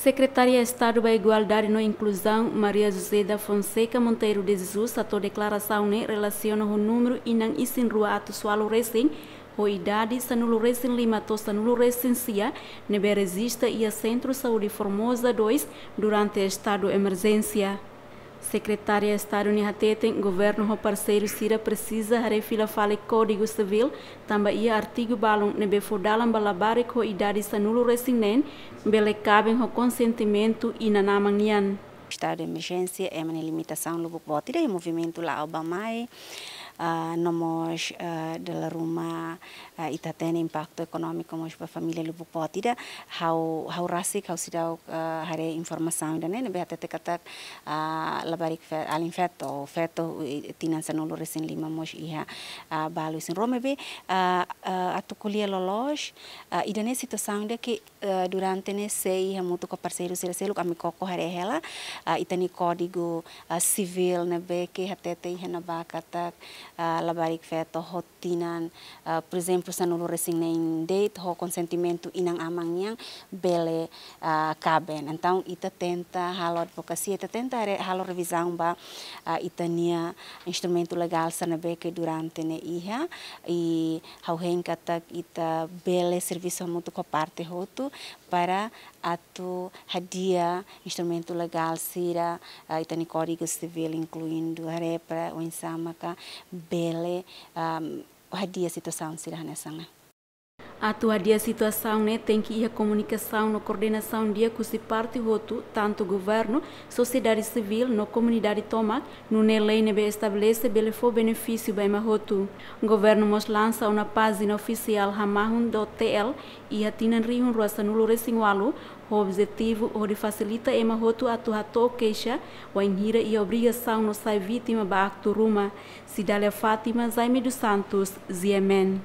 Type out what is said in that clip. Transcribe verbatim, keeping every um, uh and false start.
Sekretária Estadu ba Igualdade no Inkluzaun, Maria José da Fonseca Monteiro de Jesus, hato'o deklarasaun ne'e relasiona ho númeru inan isin rua atus ualu resin, ho idade sanulu resin lima to'o sanulu resin sia, ne'ebé rejista iha Sentru Saúde Formosa dois durante estadu emerjénsia. Sekretária Estadu ne'e hateten, governu ho parseiru sira presiza haree fila fali Kódigu Sivíl, tanba iha artigu balun ne'ebé fó dalan ba labarik ho idade sanulu resin neen, bele kaben ho konsentimentu inan-aman nian. Estadu de emerjénsia, ema nia limitasaun lubuk boot ida, movimentu la'o bá mai, ah, no mós, ah, dala ruma, ah, ita hatene impaktu ekonómiku mós ba família lubuk boot ida. Ha'u, ha'u rasik, ha'u seidauk, ah, haree informasaun ida-ne'e, ne'ebé hatete katak, ah, labarik fe-, alin feto, feto, i-, tinan sanulu resin lima mós iha, ah, balu isin rua maibé, ah, ah, atu ko'alia loloos, ah, ida-ne'e situasaun ida ke, eh, durante ne'e sei hamutuk ho parseiru sira seluk ami koko haree hela, ah, ita-nia Kódigu, ah, Sivíl ne'ebé ke hatete iha ne'ebá katak, ah, labarik feto ho tinan, ah, por ezemplu, sanulu resin neen de'it ho konsentimentu inan-aman nian bele, ah, kaben. Entaun, ita tenta halo advokasia, ita tenta re-, halo revizaun ba, ah, ita-nia instrumentu legál sira ne'ebé ke durante ne'e iha, i ha'u hein katak ita bele servisu hamutuk ho parte hotu para atu hadi'a instrumentu legál sira, ah, ita-nia Kódigu Sivíl inkluindu haree para oinsá maka bele, ah, hadi'a situasaun sira hanesan ne'e. Atu hadi'a situasaun ne'e tenke iha komunikasaun no koordenasaun di'ak husi parte hotu, tantu governu, sosiedade sivíl no komunidade tomak, nune'e lei ne'ebé estabelese bele fó benefísiu ba ema hotu. Governu mós lansa ona pájina ofisiál hamahun dot T L iha tinan rihun rua sanulu resin ualu, ho objetivu hodi fasilita ema hotu atu hato'o keixa, wainhira iha obrigasaun no sai vítima ba aktu ruma. Cidália Fátima, Jaime dos Santos, G M N.